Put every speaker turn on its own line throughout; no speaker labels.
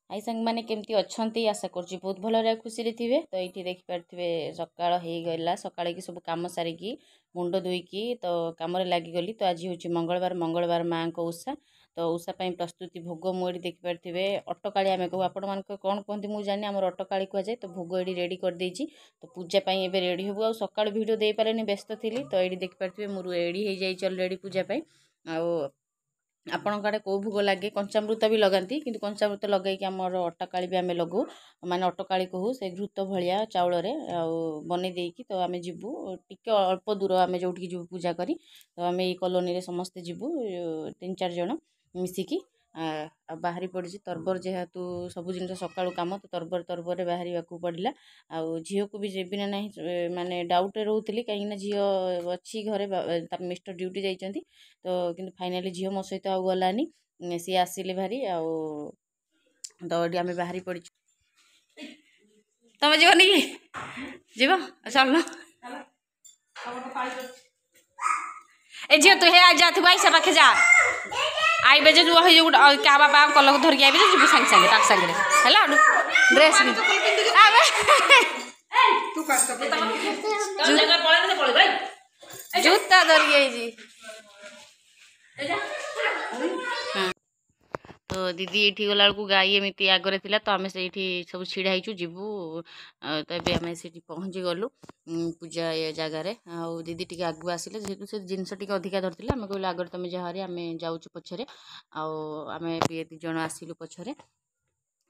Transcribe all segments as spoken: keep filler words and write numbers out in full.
High ସାଙ୍ଗମାନେ, କେମିତି ଅଛନ୍ତି? ଆଶା କରୁଛି ବହୁତ ଭଲରେ ଆଉ ଖୁସିରେ ଥିବେ। ତ ଏଇଠି ଦେଖିପାରୁଥିବେ, ସକାଳ ହେଇଗଲା। ସକାଳେ କି ସବୁ କାମ ସାରିକି, ମୁଣ୍ଡ ଧୋଇକି ତ କାମରେ ଲାଗିଗଲି। ତ ଆଜି ହେଉଛି ମଙ୍ଗଳବାର, ମଙ୍ଗଳବାର ମାଆଙ୍କ ଓଷା। ତ ଓଷା ପାଇଁ ପ୍ରସ୍ତୁତି, ଭୋଗ ମୁଁ ଏଠି ଦେଖିପାରୁଥିବେ, ଅଟକାଳି ଆମେ କହୁ। ଆପଣମାନଙ୍କ କ'ଣ କୁହନ୍ତି ମୁଁ ଜାଣିନି, ଆମର ଅଟକାଳି କୁହାଯାଏ। ତ ଭୋଗ ଏଠି ରେଡ଼ି କରିଦେଇଛି, ତ ପୂଜା ପାଇଁ ଏବେ ରେଡ଼ି ହେବୁ। ଆଉ ସକାଳୁ ଭିଡ଼ିଓ ଦେଇପାରିନି, ବ୍ୟସ୍ତ ଥିଲି। ତ ଏଇଠି ଦେଖିପାରୁଥିବେ, ମୁଁ ରେଡ଼ି ହେଇଯାଇଛି ଅଲରେଡ଼ି ପୂଜା ପାଇଁ। ଆଉ ଆପଣଙ୍କ ଆଡ଼େ କେଉଁ ଭୋଗ ଲାଗେ? କଞ୍ଚାମୃତ ବି ଲଗାନ୍ତି, କିନ୍ତୁ କଞ୍ଚାମୃତ ଲଗାଇକି ଆମର ଅଟକାଳି ବି ଆମେ ଲଗାଉ, ମାନେ ଅଟକାଳି କହୁ। ସେ ଘୃତ ଭଳିଆ ଚାଉଳରେ ଆଉ ବନେଇ ଦେଇକି ତ ଆମେ ଯିବୁ। ଟିକେ ଅଳ୍ପ ଦୂର ଆମେ ଯେଉଁଠିକି ଯିବୁ ପୂଜା କରି। ତ ଆମେ ଏଇ କଲୋନୀରେ ସମସ୍ତେ ଯିବୁ, ତିନି ଚାରି ଜଣ ମିଶିକି। ଆଉ ବାହାରି ପଡ଼ିଛି ତରବର, ଯେହେତୁ ସବୁ ଜିନିଷ ସକାଳୁ କାମ, ତ ତରବର ତରବରରେ ବାହାରିବାକୁ ପଡ଼ିଲା। ଆଉ ଝିଅକୁ ବି ଯିବି ନା ନାହିଁ ମାନେ ଡାଉଟ୍ରେ ରହୁଥିଲି, କାହିଁକିନା ଝିଅ ଅଛି ଘରେ, ତା ମିଷ୍ଟର ଡ୍ୟୁଟି ଯାଇଛନ୍ତି। ତ କିନ୍ତୁ ଫାଇନାଲି ଝିଅ ମୋ ସହିତ ଆଉ ଗଲାନି, ସିଏ ଆସିଲେ ଭାରି। ଆଉ ତ ଏଠି ଆମେ ବାହାରି ପଡ଼ିଛୁ। ତମେ ଯିବନି କି? ଯିବ, ଚାଲୁନ। ଏ ଝିଅ, ତୁ ହେ ଯା ଥିବୁ, ଆଇସା ପାଖେ ଯା। ଆଇବେ ଯେ ଯୋଉ ହେଇ ଗୋଟେ କାହା ବାପା ଅଙ୍କଲକୁ ଧରିକି ଆଇବେ ଯେ, ଯିବୁ ସାଙ୍ଗେ ସାଙ୍ଗେ ତାଙ୍କ ସାଙ୍ଗରେ। ହେଲା, ଡ୍ରେସ୍ ଜୁତା ଧରିକି ଆଇଛି। ତ ଦିଦି ଏଇଠି ଗଲାବେଳକୁ ଗାଈ ଏମିତି ଆଗରେ ଥିଲା, ତ ଆମେ ସେଇଠି ସବୁ ଛିଡ଼ା ହେଇଛୁ, ଯିବୁ। ତ ଏବେ ଆମେ ସେଇଠି ପହଞ୍ଚି ଗଲୁ ପୂଜା ଏ ଜାଗାରେ। ଆଉ ଦିଦି ଟିକେ ଆଗକୁ ଆସିଲେ, ଯେହେତୁ ସେ ଜିନିଷ ଟିକେ ଅଧିକା ଧରିଥିଲେ, ଆମେ କହିଲୁ ଆଗରେ ତୁମେ ଯାହାରି, ଆମେ ଯାଉଛୁ ପଛରେ। ଆଉ ଆମେ ବି ଦୁଇ ଜଣ ଆସିଲୁ ପଛରେ।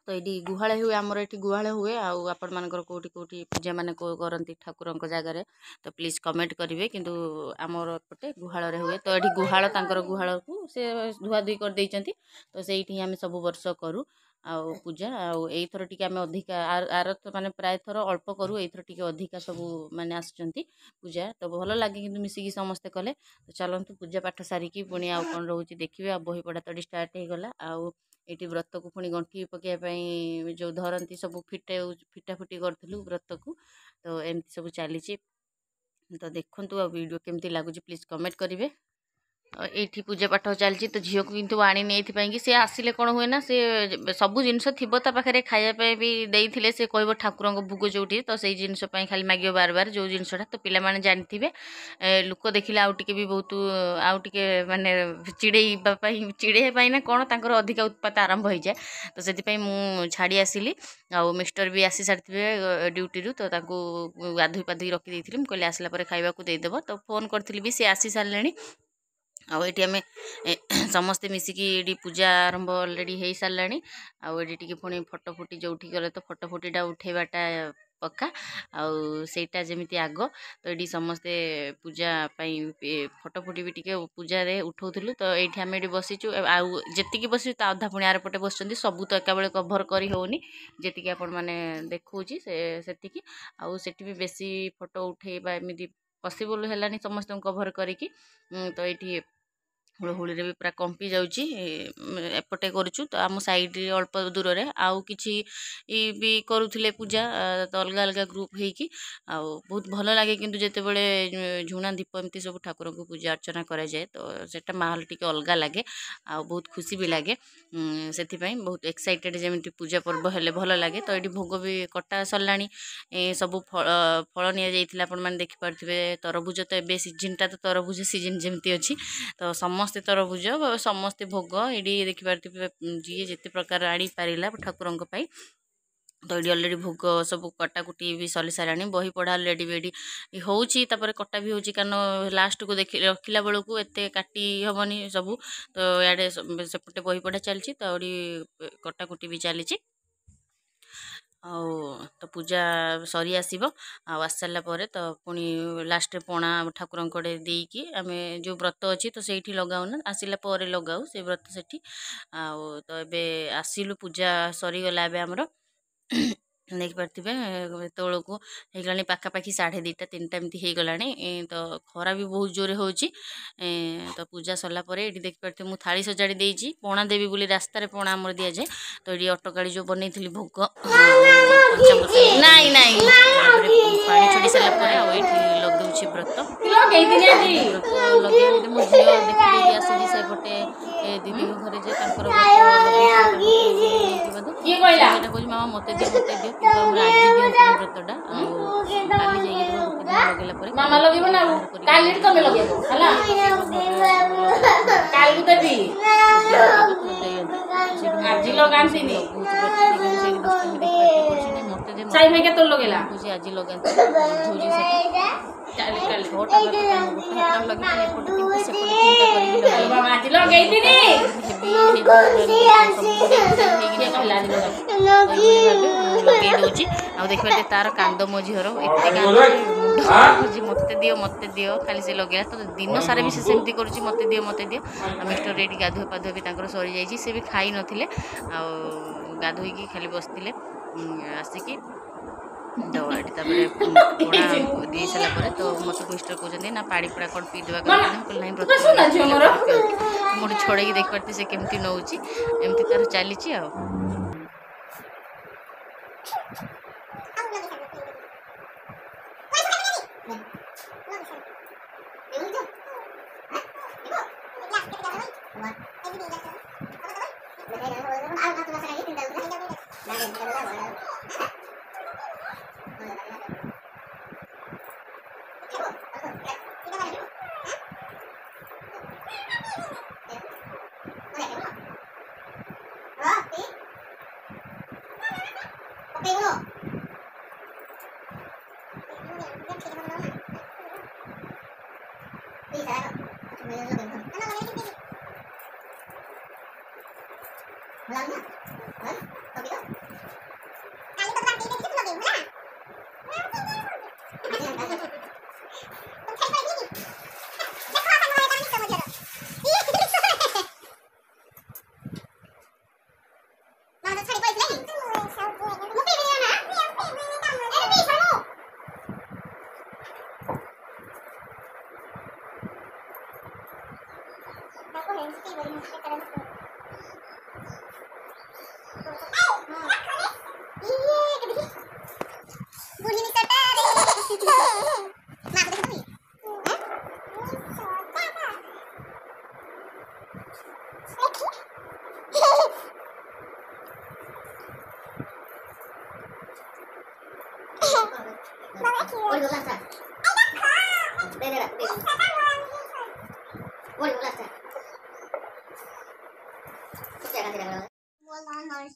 ତ ଏଇଠି ଗୁହାଳେ ହୁଏ, ଆମର ଏଠି ଗୁହାଳେ ହୁଏ। ଆଉ ଆପଣମାନଙ୍କର କେଉଁଠି କେଉଁଠି ପୂଜା ମାନେ କରନ୍ତି ଠାକୁରଙ୍କ ଜାଗାରେ, ତ ପ୍ଲିଜ୍ କମେଣ୍ଟ କରିବେ। କିନ୍ତୁ ଆମର ଏପଟେ ଗୁହାଳରେ ହୁଏ। ତ ଏଠି ଗୁହାଳ, ତାଙ୍କର ଗୁହାଳକୁ ସେ ଧୁଆଧୁଇ କରିଦେଇଛନ୍ତି, ତ ସେଇଠି ହିଁ ଆମେ ସବୁ ବର୍ଷ କରୁ ଆଉ ପୂଜା। ଆଉ ଏଇଥର ଟିକେ ଆମେ ଅଧିକା, ଆର ମାନେ ପ୍ରାୟ ଥର ଅଳ୍ପ କରୁ, ଏଇଥର ଟିକେ ଅଧିକା ସବୁ ମାନେ ଆସୁଛନ୍ତି ପୂଜା, ତ ଭଲ ଲାଗେ କିନ୍ତୁ ମିଶିକି ସମସ୍ତେ କଲେ। ତ ଚାଲନ୍ତୁ, ପୂଜା ପାଠ ସାରିକି ପୁଣି ଆଉ କ'ଣ ରହୁଛି ଦେଖିବେ। ଆଉ ବହି ପଢ଼ା ତ ଏଠି ଷ୍ଟାର୍ଟ ହେଇଗଲା। ଆଉ ଏଇଠି ବ୍ରତକୁ ପୁଣି ଗଣ୍ଠି ପକାଇବା ପାଇଁ ଯେଉଁ ଧରନ୍ତି ସବୁ, ଫିଟା ଫିଟାଫୁଟି କରୁଥିଲୁ ବ୍ରତକୁ। ତ ଏମିତି ସବୁ ଚାଲିଛି। ତ ଦେଖନ୍ତୁ, ଆଉ ଭିଡ଼ିଓ କେମିତି ଲାଗୁଛି ପ୍ଲିଜ୍ କମେଣ୍ଟ କରିବେ। ଏଇଠି ପୂଜା ପାଠ ଚାଲିଛି। ତ ଝିଅକୁ କିନ୍ତୁ ଆଣିନି ଏଇଥିପାଇଁ କି ସେ ଆସିଲେ କ'ଣ ହୁଏ ନା, ସେ ସବୁ ଜିନିଷ ଥିବ ତା ପାଖରେ, ଖାଇବା ପାଇଁ ବି ଦେଇଥିଲେ, ସେ କହିବ ଠାକୁରଙ୍କ ଭୋଗ ଯେଉଁଠି, ତ ସେଇ ଜିନିଷ ପାଇଁ ଖାଲି ମାଗିବ ବାର ବାର ଯେଉଁ ଜିନିଷଟା। ତ ପିଲାମାନେ ଜାଣିଥିବେ, ଲୋକ ଦେଖିଲେ ଆଉ ଟିକେ ବି ବହୁତ, ଆଉ ଟିକେ ମାନେ ଚିଡ଼େଇବା ପାଇଁ, ଚିଡ଼େଇବା ପାଇଁ ନା କ'ଣ, ତାଙ୍କର ଅଧିକା ଉତ୍ପାତ ଆରମ୍ଭ ହେଇଯାଏ। ତ ସେଥିପାଇଁ ମୁଁ ଛାଡ଼ି ଆସିଲି। ଆଉ ମିଷ୍ଟର ବି ଆସି ସାରିଥିବେ ଡ୍ୟୁଟିରୁ, ତ ତାଙ୍କୁ ଗାଧୋଇ ପାଧୋଇ ରଖିଦେଇଥିଲି। ମୁଁ କହିଲି ଆସିଲା ପରେ ଖାଇବାକୁ ଦେଇଦେବ। ତ ଫୋନ୍ କରିଥିଲି ବି, ସେ ଆସି ସାରିଲେଣି। ଆଉ ଏଇଠି ଆମେ ସମସ୍ତେ ମିଶିକି ଏଇଠି ପୂଜା ଆରମ୍ଭ ଅଲରେଡ଼ି ହେଇସାରିଲାଣି। ଆଉ ଏଇଠି ଟିକେ ପୁଣି ଫଟୋ ଫୁଟି, ଯେଉଁଠି ଗଲେ ତ ଫଟୋ ଫୁଟିଟା ଉଠେଇବାଟା ପକ୍କା, ଆଉ ସେଇଟା ଯେମିତି ଆଗ। ତ ଏଇଠି ସମସ୍ତେ ପୂଜା ପାଇଁ ଫଟୋ ଫୁଟି ବି ଟିକେ ପୂଜାରେ ଉଠଉଥିଲୁ। ତ ଏଇଠି ଆମେ ଏଇଠି ବସିଛୁ, ଆଉ ଯେତିକି ବସିଛୁ ତା ଅଧା ପୁଣି ଆରପଟେ ବସିଛନ୍ତି। ସବୁ ତ ଏକାବେଳେ କଭର୍ କରି ହେଉନି, ଯେତିକି ଆପଣମାନେ ଦେଖାଉଛି ସେ ସେତିକି। ଆଉ ସେଠି ବି ବେଶୀ ଫଟୋ ଉଠେଇବା ଏମିତି ପସିବଲ୍ ହେଲାନି ସମସ୍ତଙ୍କୁ କଭର୍ କରିକି। ତ ଏଇଠି ହୁଳହୁଳିରେ ବି ପୁରା କମ୍ପି ଯାଉଛି। ଏପଟେ କରୁଛୁ, ତ ଆମ ସାଇଡ଼୍ରେ ଅଳ୍ପ ଦୂରରେ ଆଉ କିଛି ବି କରୁଥିଲେ ପୂଜା, ତ ଅଲଗା ଅଲଗା ଗ୍ରୁପ୍ ହେଇକି। ଆଉ ବହୁତ ଭଲ ଲାଗେ କିନ୍ତୁ ଯେତେବେଳେ ଝୁଣା ଦୀପ ଏମିତି ସବୁ ଠାକୁରଙ୍କୁ ପୂଜା ଅର୍ଚ୍ଚନା କରାଯାଏ, ତ ସେଇଟା ମାହୋଲ ଟିକେ ଅଲଗା ଲାଗେ ଆଉ ବହୁତ ଖୁସି ବି ଲାଗେ। ସେଥିପାଇଁ ବହୁତ ଏକ୍ସାଇଟେଡ଼, ଯେମିତି ପୂଜା ପର୍ବ ହେଲେ ଭଲ ଲାଗେ। ତ ଏଇଠି ଭୋଗ ବି କଟା ସରିଲାଣି, ସବୁ ଫଳ ଫଳ ନିଆଯାଇଥିଲା, ଆପଣମାନେ ଦେଖିପାରୁଥିବେ। ତରଭୁଜ ତ ଏବେ ସିଜିନ୍ଟା, ତ ତରଭୁଜ ସିଜିନ୍ ଯେମିତି ଅଛି, ତ ସମସ୍ତେ ତରଭୁଜ, ସମସ୍ତେ ଭୋଗ ଏଇଠି ଦେଖିପାରୁଥିବେ, ଯିଏ ଯେତେ ପ୍ରକାର ଆଣିପାରିଲା ଠାକୁରଙ୍କ ପାଇଁ। ତ ଏଇଠି ଅଲରେଡ଼ି ଭୋଗ ସବୁ କଟାକୁଟି ବି ସରି ସାରିଲାଣି। ବହି ପଢ଼ା ଅଲରେଡ଼ି ବି ଏଇଠି ହେଉଛି, ତାପରେ କଟା ବି ହେଉଛି, କାରଣ ଲାଷ୍ଟକୁ ଦେଖି ରଖିଲା ବେଳକୁ ଏତେ କାଟି ହେବନି ସବୁ। ତ ଇଆଡ଼େ ସେପଟେ ବହି ପଢ଼ା ଚାଲିଛି, ତ ଏଇଠି କଟାକୁଟି ବି ଚାଲିଛି। ଆଉ ତ ପୂଜା ସରି ଆସିବ, ଆଉ ଆସି ସାରିଲା ପରେ ତ ପୁଣି ଲାଷ୍ଟରେ ପଣା ଠାକୁରଙ୍କ ଆଡ଼େ ଦେଇକି, ଆମେ ଯେଉଁ ବ୍ରତ ଅଛି ତ ସେଇଠି ଲଗାଉନା, ଆସିଲା ପରେ ଲଗାଉ ସେ ବ୍ରତ ସେଠି। ଆଉ ତ ଏବେ ଆସିଲୁ, ପୂଜା ସରିଗଲା। ଏବେ ଆମର ଦେଖିପାରୁଥିବେ, ଏତେବେଳକୁ ହେଇଗଲାଣି ପାଖାପାଖି ସାଢ଼େ ଦୁଇଟା ତିନିଟା ଏମିତି ହେଇଗଲାଣି। ତ ଖରା ବି ବହୁତ ଜୋରେ ହେଉଛି। ତ ପୂଜା ସରିଲା ପରେ ଏଇଠି ଦେଖିପାରୁଥିବେ, ମୁଁ ଥାଳି ସଜାଡ଼ି ଦେଇଛି ପଣା ଦେବି ବୋଲି। ରାସ୍ତାରେ ପଣା ଆମର ଦିଆଯାଏ। ତ ଏଇଠି ଅଟକାଳି ଯେଉଁ ବନେଇଥିଲି ଭୋଗ, ନାଇଁ ନାଇଁ, ପାଣି ଛାଡ଼ି ସାରିଲା ପରେ ଆଉ ଏଇଠି ଲଗାଉଛି ବ୍ରତ। ବ୍ରତ ଲଗେଇବି, ମୋ ଝିଅ ଦେଖିଦେଇକି ଆସିଛି ସେପଟେ ଦିଦିଙ୍କ ଘରେ ଯେ ତାଙ୍କର ବ୍ରତ। ମାମା ମୋତେ ଦିଅ ମୋତେ ଦିଅ କିନ୍ତୁ ଆମର ଆଜି ଦିଅନ୍ତିନି ବ୍ରତଟା ଆଉ କାଲି ଯାଇକି ଧର ଗୋଟେ ଦିନ ଲଗେଇଲା ପରେ
ମାମା ଲଗେଇବ ନା ଆଉ
ବାହାର କରିକି
କାଲି ତମେ ଲଗେଇବ ହେଲା କାଲି ଦେବି ଆଜି ଲଗାନ୍ତିନି
ଲଗଉଛି ବ୍ରତ ସେ କିନ୍ତୁ ସେଇଠି ଦୁଷ୍ଟାମି ଦେଖିପାରୁଛି କରୁଛି ନାଇଁ ମୋତେ ଦେ
ସାଇ ଭାଇ କେତେବେଳେ ଲଗେଇଲା
କହୁଛି ଆଜି ଲଗାନ୍ତି ବୁଝଉଛି ସେଟା
କାଲି କାଲି
ଛଅଟା ବ୍ରତ ପାଇଁ ମୁଁ ଗୋଟେ ହାତରେ ଲଗେଇଥିଲି ଏପଟେ ତିନିଟା ସେପଟେ ତିନିଟା କରିକି ଲଗେଇଲି
ମାମା ଆଜି ଲଗେଇଥିନି
ହେଭି ହେଭି ସବୁ
କିଏ କହିଲା ଆଜି ଲଗା
ତ ଏଇଭଳି ଭାବେ ମୁଁ ଲଗେଇ ଦେଉଛି ଆଉ ଦେଖିବା ଟିକେ ତାର କାନ୍ଦ ମୋ ଝିଅର ଏତେ କାନ୍ଦ ଯେ ମୁଣ୍ଡ କହୁଛି ମୋତେ ଦିଅ ମୋତେ ଦିଅ ଖାଲି ସେ ଲଗେଇଲା ତ ଦିନ ସାରା ବି ସେ ସେମିତି କରୁଛି ମୋତେ ଦିଅ ମୋତେ ଦିଅ ଆଉ ମିଷ୍ଟର ଏଇଠି ଗାଧୁଆ ପାଧୁଆ ବି ତାଙ୍କର ସରିଯାଇଛି ସେ ବି ଖାଇ ନଥିଲେ ଆଉ ଗାଧୋଇକି ଖାଲି ବସିଥିଲେ ଉଁ, ଆସିକି ତ ଏଠି ତାପରେ ପଣା ଦେଇ ସାରିଲା ପରେ ତ ମୋତେ ମିଷ୍ଟର କହୁଛନ୍ତି ନା ପାଣି ପଣା କ'ଣ ପିଇଦେବା କଥା ମୁଁ କହିଲି ନାହିଁ ବ୍ରତ
ତୁମେ ଶୁଣ ଝିଅ ମୋର।
ପିଅନ୍ତି ମୁଁ ଗୋଟେ ଛଡ଼େଇକି ଦେଖିପାରୁଛି ସେ କେମିତି ନେଉଛି ଏମିତି ତାର ଚାଲିଛି ଆଉ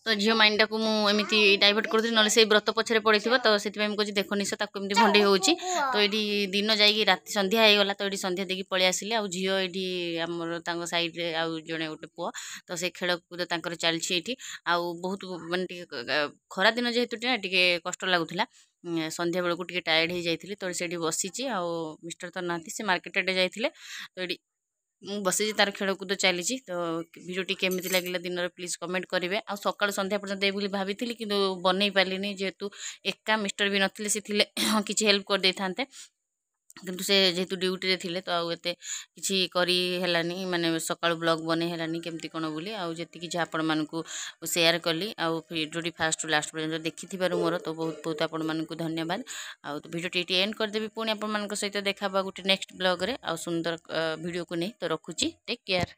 ତ ଝିଅ ମାଇଣ୍ଡଟାକୁ ମୁଁ ଏମିତି ଡାଇଭର୍ଟ କରୁଥିଲି ନହେଲେ ସେଇ ବ୍ରତ ପଛରେ ପଡ଼ିଥିବ ତ ସେଥିପାଇଁ ମୁଁ କହୁଛି ଦେଖ ନିଶ ତାକୁ ଏମିତି ଭଣ୍ଡେଇ ହେଉଛି ତ ଏଇଠି ଦିନ ଯାଇକି ରାତି ସନ୍ଧ୍ୟା ହେଇଗଲା ତ ଏଇଠି ସନ୍ଧ୍ୟା ଦେଇକି ପଳେଇ ଆସିଲେ ଆଉ ଝିଅ ଏଇଠି ଆମର ତାଙ୍କ ସାଇଡ଼ରେ ଆଉ ଜଣେ ଗୋଟେ ପୁଅ ତ ସେ ଖେଳକୁଦ ତାଙ୍କର ଚାଲିଛି ଏଇଠି ଆଉ ବହୁତ ମାନେ ଟିକେ ଖରା ଦିନ ଯେହେତୁ ନା ଟିକେ କଷ୍ଟ ଲାଗୁଥିଲା ଉଁ, ସନ୍ଧ୍ୟା ବେଳକୁ ଟିକେ ଟାୟାର୍ଡ଼ ହେଇଯାଇଥିଲି ତ ସେଇଠି ବସିଛି ଆଉ ମିଷ୍ଟର ତ ନାହାନ୍ତି ସେ ମାର୍କେଟ ଆଡ଼େ ଯାଇଥିଲେ ତ ଏଇଠି ମୁଁ ବସିଛି ତାର ଖେଳକୁଦ ଚାଲିଛି ତ ଭିଡ଼ିଓଟି କେମିତି ଲାଗିଲା ଦିନରେ ପ୍ଲିଜ୍ କମେଣ୍ଟ କରିବେ ଆଉ ସକାଳୁ ସନ୍ଧ୍ୟା ପର୍ଯ୍ୟନ୍ତ ଦେବି ବୋଲି ଭାବିଥିଲି କିନ୍ତୁ ବନେଇ ପାରିଲିନି ଯେହେତୁ ଏକା ମିଷ୍ଟର ବି ନଥିଲେ ସେ ଥିଲେ କିଛି ହେଲ୍ପ କରିଦେଇଥାନ୍ତେ କିନ୍ତୁ ସେ ଯେହେତୁ ଡ୍ୟୁଟିରେ ଥିଲେ ତ ଆଉ ଏତେ କିଛି କରି ହେଲାନି ମାନେ ସକାଳୁ ବ୍ଲଗ୍ ବନେଇ ହେଲାନି କେମିତି କ'ଣ ବୋଲି ଆଉ ଯେତିକି ଯାହା ଆପଣମାନଙ୍କୁ ସେୟାର କଲି ଆଉ ଭିଡ଼ିଓଟି ଫାଷ୍ଟରୁ ଲାଷ୍ଟ ପର୍ଯ୍ୟନ୍ତ ଦେଖିଥିବାରୁ ମୋର ତ ବହୁତ ବହୁତ ଆପଣମାନଙ୍କୁ ଧନ୍ୟବାଦ ଆଉ ତ ଭିଡ଼ିଓଟି ଏଇଠି ଏଣ୍ଡ କରିଦେବି ପୁଣି ଆପଣମାନଙ୍କ ସହିତ ଦେଖା ହେବା ଗୋଟେ ନେକ୍ସଟ ବ୍ଲଗ୍ରେ ଆଉ ସୁନ୍ଦର ଭିଡ଼ିଓକୁ ନେଇ ତ ରଖୁଛି ଟେକ୍ କେୟାର।